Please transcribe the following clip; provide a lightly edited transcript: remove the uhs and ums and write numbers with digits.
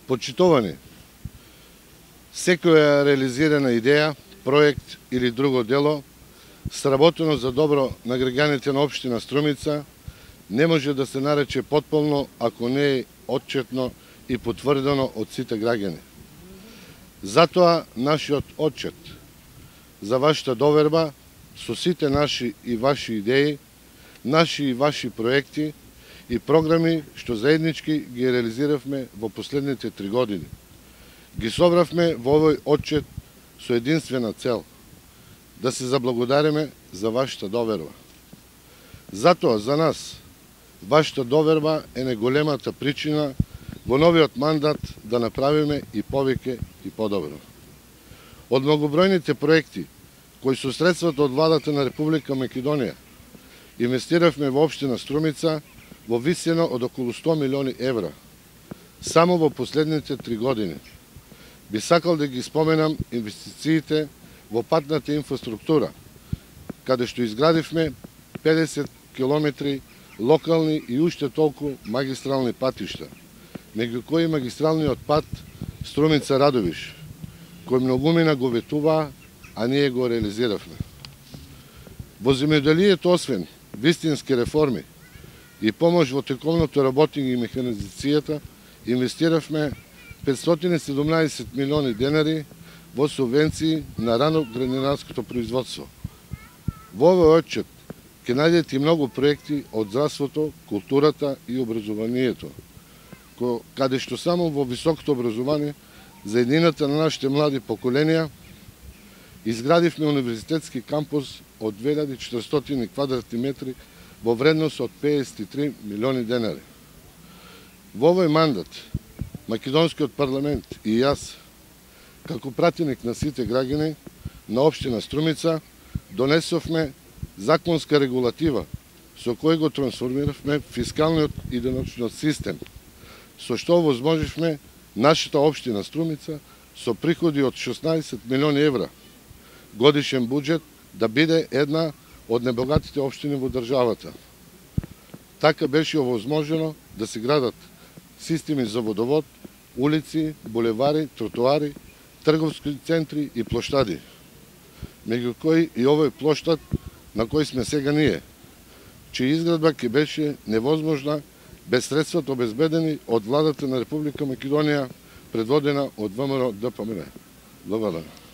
Почитувани, секоја реализирана идеја, проект или друго дело, сработено за добро на граѓаните на општина Струмица, не може да се нарече потполно ако не е отчетно и потврдено од сите граѓани. Затоа нашиот отчет за вашата доверба со сите наши и ваши идеи, наши и ваши проекти и програми што заеднички ги реализиравме во последните 3 години. Ги собравме во овој отчет со единствена цел – да се заблагодариме за вашата доверба. Затоа за нас вашата доверба е најголемата причина во новиот мандат да направиме и повеќе и подобро. Од многобројните проекти кои со средствата од владата на Република Македонија инвестиравме во општина Струмица во висина од околу 100 милиони евра само во последните 3 години. Би сакал да ги споменам инвестициите во патната инфраструктура, каде што изградивме 50 километри локални и уште толку магистрални патишта, меѓу кои магистралниот пат Струмица-Радовиш, кој многумина го ветуваа, а ние го реализиравме. Во земјоделието, освен вистински реформи и помош во тековното работење и механизацијата, инвестиравме 517 милиони денари во субвенции на рано градинарското производство. Во овој отчет ќе најдете и многу проекти од здравството, културата и образованието, каде што само во високото образование за еднината на нашите млади поколенија изградивме универзитетски кампус од 2400 квадратни метри во вредност од 53 милиони денари. Во овој мандат Македонскиот парламент и јас, како пратеник на сите граѓани на општина Струмица, донесовме законска регулатива со кој го трансформиравме фискалниот и деночниот систем, со што овозможивме нашата општина Струмица со приходи од 16 милиони евра годишен буџет да биде една од небогатите општини во државата. Така беше овозможено да се градат системи за водовод, улици, булевари, тротоари, трговски центри и плоштади, меѓу кои и овој плоштад на кој сме сега ние, чија изградба ќе беше невозможна без средствата обезбедени од владата на Република Македонија, предводена од ВМРО ДПМН. Благодарам.